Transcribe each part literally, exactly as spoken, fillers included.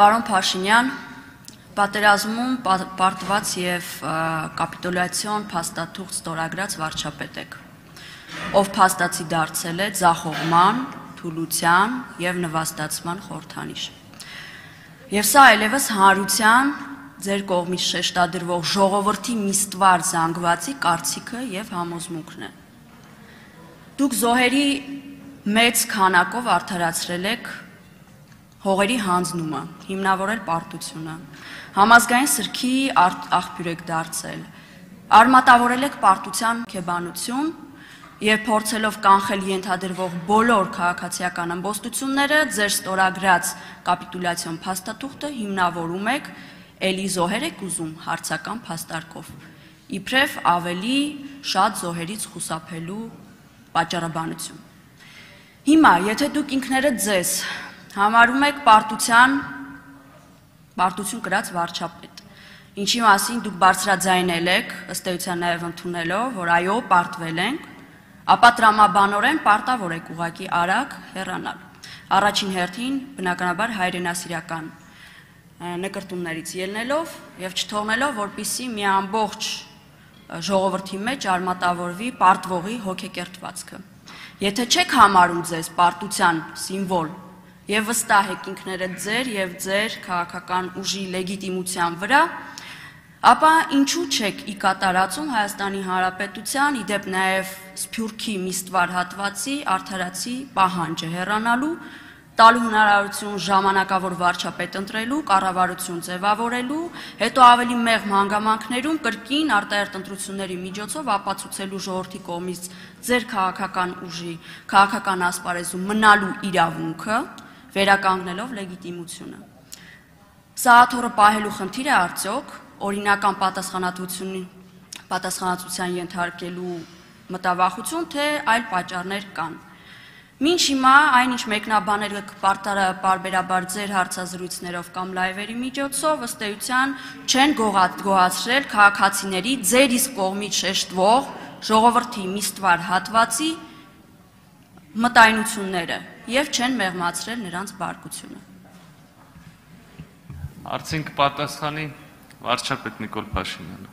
Պարոն Փաշինյան, պատերազմում պարտված և կապիտուլյացիոն փաստաթուղթ ստորագրած վարչապետ եք, ով փաստացի դարձել է ձախողման, թուլության և նվաստացման խորհրդանիշ։ Եվ սա այլևս հանրության ձեր կողմից շեշտադրվող ժողովրդի միստվար զանգվածի կարծիքը և համոզմունքն է։ Դուք զոհերի մեծ քանակով արդարացրել եք հողերի հանձնումը, հիմնավորել պարտությունը, համազգային սրքի աղբյուր եք դարձել, արմատավորել եք պարտության հոգեբանություն և փորձելով կանխել ենթադրվող բոլոր քաղաքացիական ըմբոստությունները, ձեր ստորագրած կապիտուլյացիոն փաստաթուղթը հիմնավորում եք էլի զոհեր եք ուզում հարցական փաստարկով, իբրև ավելի շատ զոհերից խուսափելու պատճառաբանություն։ Հիմա, եթե դուք ինքներդ ձեզ համարում եք պարտության պարտություն կրած վարչապետ, ինչի մասին դուք բարձրաձայնել եք, ըստ էության նաև ընդունելով, որ այո, պարտվել ենք, ապա տրամաբանորեն պարտավոր եք ուղղակի արագ հեռանալ։ Առաջին հերթին, բնականաբար հայրենասիրական նկրտումներից ելնելով և չթողնելով, որպեսզի մի ամբողջ ժողովրդի մեջ արմատավորվի պարտվողի հոգեկերտվածքը։ Եթե չեք համարում ձեզ պարտության սիմվոլ և վստահ եք ինքներդ ձեր և ձեր քաղաքական ուժի լեգիտիմության վրա, ապա ինչու չեք ի կատարածում Հայաստանի Հանրապետության, ի դեպ նաև Սփյուռքի միստվար հատվածի արդարացի պահանջը հեռանալու, տալու հնարավորություն ժամանակավոր վարչապետ ընտրելու, կառավարություն ձևավորելու, հետո ավելի մեղմ հանգամանքներում կրկին արտահերթ ընտրությունների միջոցով ապացուցելու ժողովրդի կողմից ձեր քաղաքական ուժի, քաղաքական ասպարեզում մնալու իրավունքը, վերականգնելով լեգիտիմությունը։ Սաղաթոռը պահելու խնդիր է արդյոք օրինական պատասխանատվության ենթարկելու մտավախություն, թե այլ պատճառներ կան։ Մինչ հիմա այնինչ մեկնաբանել եք պարբերաբար ձեր հարցազրույցներով կամ լայվերի միջոցով, ըստ էության չեն գոհացրել քաղաքացիների ձեր իսկ կողմից շեշտվող ժողովրդի միստվար հատվածի մտայնությունները և չեն մեղմացրել նրանց բարկությունը։ Հարցին կպատասխանի վարչապետ Նիկոլ Փաշինյանը։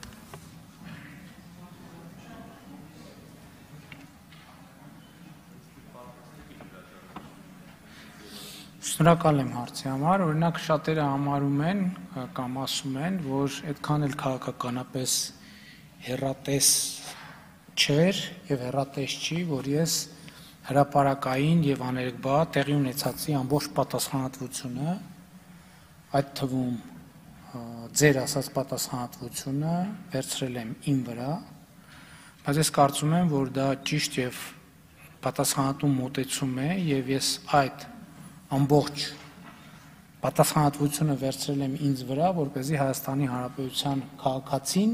Շնորհակալ եմ հարցի համար, օրինակ շատերը համարում են կամ ասում են, որ այդքան էլ քաղաքականապես հեռատես չէր և հեռատես չի, որ ես հրապարակային և աներկբա տեղի ունեցածի ամբողջ պատասխանատվությունը, այդ թվում ձեր ասած պատասխանատվությունը վերցրել եմ իմ վրա, բայց ես կարծում եմ, որ դա ճիշտ և պատասխանատու մոտեցում է և ես այդ ամբողջ պատասխանատվությունը վերցրել եմ ինձ վրա, որպեսզի Հայաստանի Հանրապետության քաղաքացին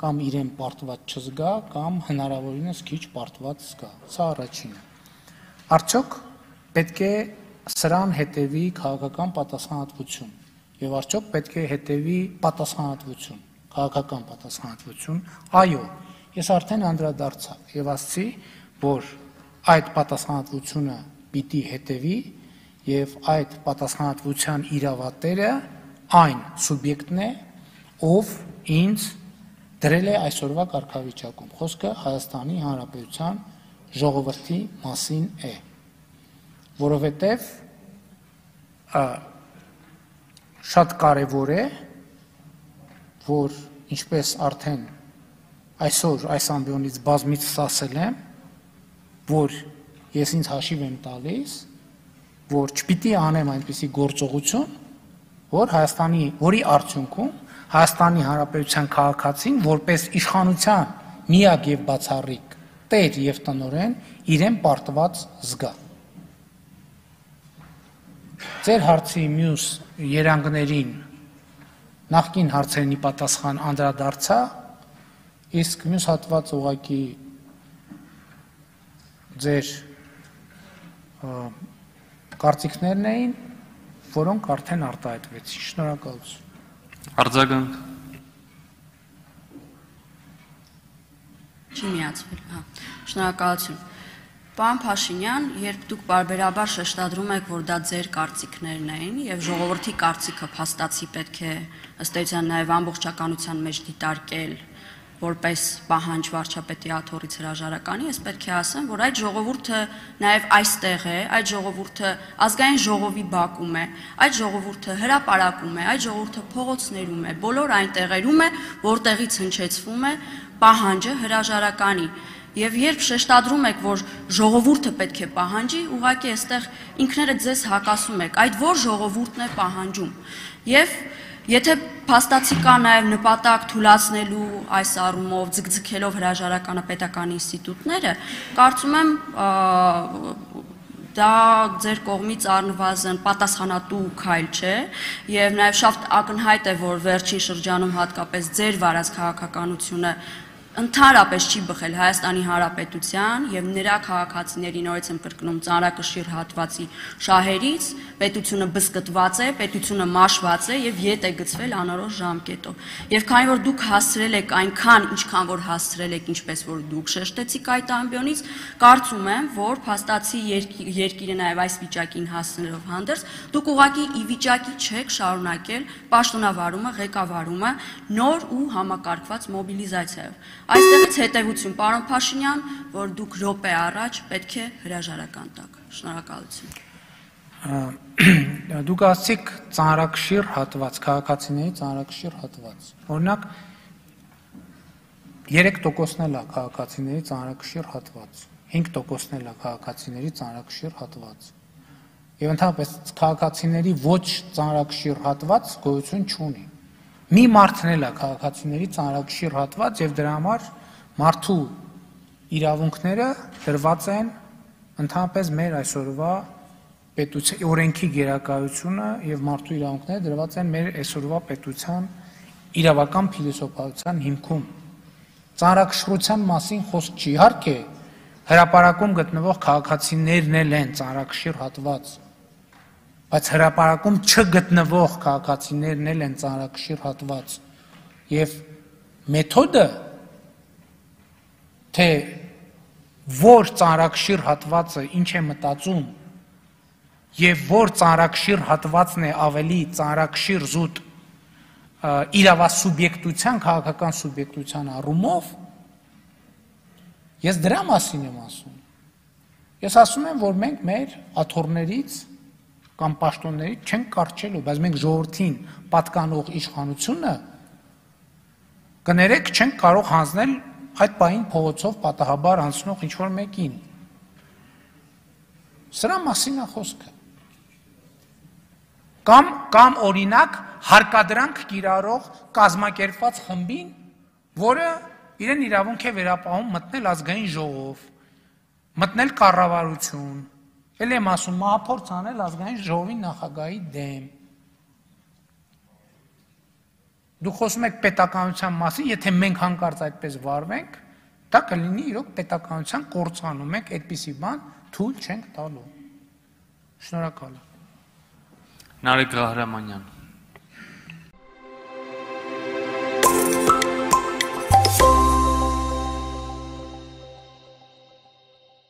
կամ իրեն պարտված չզգա, կամ հնարավորինս քիչ պարտված զգա։ Սա առաջինը։ Արդյոք պետք է սրան հետևի քաղաքական պատասխանատվություն, և արդյոք պետք է հետևի պատասխանատվություն, քաղաքական պատասխանատվություն։ Այո, ես արդեն անդրադարձա և ասացի, որ այդ պատասխանատվությունը պիտի հետևի և այդ պատասխանատվության իրավատերը այն սուբյեկտն է, ով ինձ դրել է այսօրվա կարգավիճակում։ Խոսքը Հայաստանի Հանրապետության ժողովրդի մասին է, որովհետև շատ կարևոր է, որ ինչպես արդեն այսօր այս ամբիոնից բազմիցս ասել եմ, որ ես ինձ հաշիվ եմ տալիս, որ չպիտի անեմ այնպիսի գործողություն, որ Հայաստանի, որի արդյունքում Հայաստանի Հանրապետության քաղաքացին որպես իշխանության միակ և բացառիկ տեր և տնօրեն իրեն պարտված զգա։ Ձեր հարցի մյուս երանգներին նախկին հարցերին պատասխան անդրադարձա, իսկ մյուս հատված ուղղակի ձեր կարծիքներն էին, որոնք արդեն արտահայտվեցին։ Շնորհակալություն։ Արձագանք։ Չի միացվել, հա, շնորհակալություն։ Պարոն Փաշինյան, երբ դուք բարբերաբար շեշտադրում եք, որ դա ձեր կարծիքներն էին եւ ժողովրդի կարծիքը փաստացի պետք է ըստ էության նաեւ ամբողջականության մեջ դիտարկել որպես պահանջ վարչապետի աթոռից հրաժարականի, ես պետք է ասեմ, որ այդ ժողովուրդը նաեւ այստեղ է, այդ ժողովուրդը ազգային ժողովի բակում է, այդ ժողովուրդը հրապարակում է, այդ ժողովուրդը փողոցներում է, բոլոր այն տեղերում է, որտեղից հնչեցվում է պահանջը հրաժարականի։ Եվ երբ շեշտադրում եք, որ ժողովուրդը պետք է պահանջի, ուղղակի այստեղ ինքներդ ձեզ հակասում եք, այդ որ ժողովուրդն է պահանջում։ Եվ եթե փաստացի կա նաև նպատակ թույլատնելու այս առումով ձգձգելով հրաժարականը պետական ինստիտուտները, կարծում եմ դա ձեր կողմից առնվազն պատասխանատու քայլ չէ, եւ նաև շատ ակնհայտ է, որ վերջին շրջանում հատկապես ձեր վարած քաղաքականությունը ընդհանրապես չի բխել Հայաստանի Հանրապետության եւ նրա քաղաքացիների նորից եմ կրկնում ծանրակշիռ հատվածի շահերից, պետությունը բզկտված է, պետությունը մաշված է եւ ետ է գցվել անորոշ ժամկետով։ Եվ քանի որ դուք հասցրել եք այնքան, ինչքան որ հասցրել եք, ինչպես որ դուք շեշտեցիք այդ ամբիոնից, կարծում եմ, որ փաստացի երկիրը նաեւ այս վիճակին հասնելով հանդերձ, դուք ուղղակի ի վիճակի չեք շարունակել պաշտոնավարումը, ղեկավարումը նոր ու համակարգված մոբիլիզացիայով։ Այստեղից հետևություն, պարոն Փաշինյան, որ դուք րոպե առաջ պետք է հրաժարական տաք։ Շնորհակալություն։ Դուք ասացիք ծանրակշիռ հատված, քաղաքացիների ծանրակշիռ հատված։ Օրինակ երեք տոկոսն էլ է քաղաքացիների ծանրակշիռ հատված, հինգ տոկոսն էլ է քաղաքացիների ծանրակշիռ հատված։ Եվ ընդհանրապես քաղաքացիների ոչ ծանրակշիռ հատված գոյություն չունի։ Մի մարդն էլ է քաղաքացիների ծանրակշիռ հատված եւ դրա համար մարդու իրավունքները դրված են ընդհանրապես մեր այսօրվա պետության օրենքի գերակայությունը եւ մարդու իրավունքները դրված են մեր այսօրվա պետության իրավական փիլիսոփայության հիմքում։ Ծանրակշռության մասին խոսք չի, իհարկե հրապարակում գտնվող քաղաքացիներն էլ են ծանրակշիռ հատված, բայց հրապարակում չգտնվող քաղաքացիներն էլ են ծանրակշիռ հատված եւ մեթոդը թե որ ծանրակշիռ հատվածը ինչ է մտածում եւ որ ծանրակշիռ հատվածն է ավելի ծանրակշիռ զուտ իրավասուբյեկտության քաղաքական սուբյեկտության առումով ես դրա մասին եմ ասում։ Ես ասում եմ, որ մենք մեր աթոռներից կամ պաշտոններից չենք կարճելու, բայց մենք ժողովրդին պատկանող իշխանությունը կներեք չենք կարող հանձնել այդ պահին փողոցով պատահաբար անցնող ինչ-որ մեկին։ Սրա մասին է խոսքը։ Կամ կամ օրինակ հարկադրանք կիրառող կազմակերպված խմբին, որը իրեն իրավունք է վերապահում մտնել ազգային ժողով, մտնել կառավարություն, էլ եմ ասում մահափորձ անել ազգային ժողովի նախագահի դեմ։ Դուք խոսում եք պետականության մասին, եթե մենք հանկարծ այդպես վարվենք, դա կլինի իրոք պետականության կործանում, մենք այդպիսի բան թույլ չենք տալու։ Շնորհակալ եմ։ Նարեկ Ղահրամանյան։